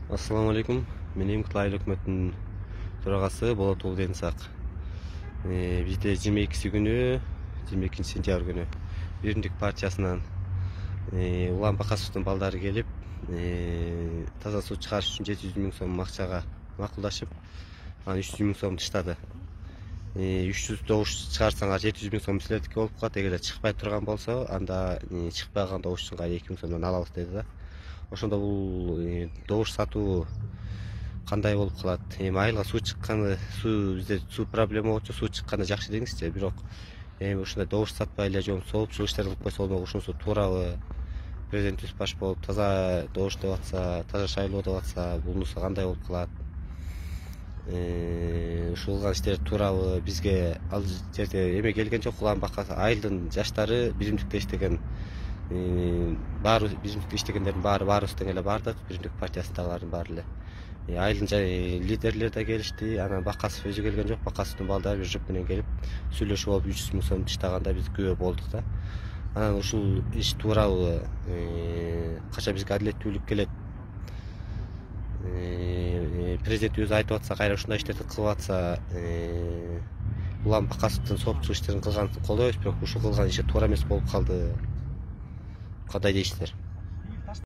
Ассаламу алейкум. Мен Кытай айыл өкмөтүнүн төрагасы Болот Улденсак. Бизде 22 күнү, 22 сентябрь күнү Биримдик партиясынан Улан Бакасовдун балдары келип, таза суу чыгарыш үчүн 700 000 сом акчага макулдашып, анан 300 000 сом тыштады. 300 добуш чыгарсаңар 700 000 сом силердики болуп калат. Эгерде чыкпай турган болсо, анда чыкпаган добушчунга 2 000 сомдон алабыз деди да. Ошондо бул добуш сатуу кандай болуп калат? Айылга суу чыкканы, бизде суу проблема болчу, суу чыкканы жакшы деңизчи, бирок ушундай добуш сатпай эле же болбосо соолукчулук иштерин кылып койсо болбок, ушунусу туурабы? Президентибиз баш болуп таза добуш деп атса, таза шайлоо деп атса, бунусу кандай болуп калат? Ушул кылган иштер туурабы? Бизге ал жерде эме келген жок. Улан Бакасов айылдын жаштары биримдикте иштеген, баары биримдикте иштегендердин баарыбыз тең эле бардык, биримдик партиясындагылардын баары эле. Айылдын лидерлери да келишти, анан Бакасов өзү келген жок. Бакасовдун балдары бир жұп менен келип сүйлөшүп алып 300 000 сом тыштаганда биз күбө болдук да. Анан ушул иш туурабы? Кача бизге адилеттүүлүк келет? Президент өзү айтып атса, кайра ушундай иштерди кылып атса, Улан Бакасовдун соопчулук иштерин кылганын колдойбуз, бирок ушул кылган иши туура эмес болуп калды. Кандай дейсиздер?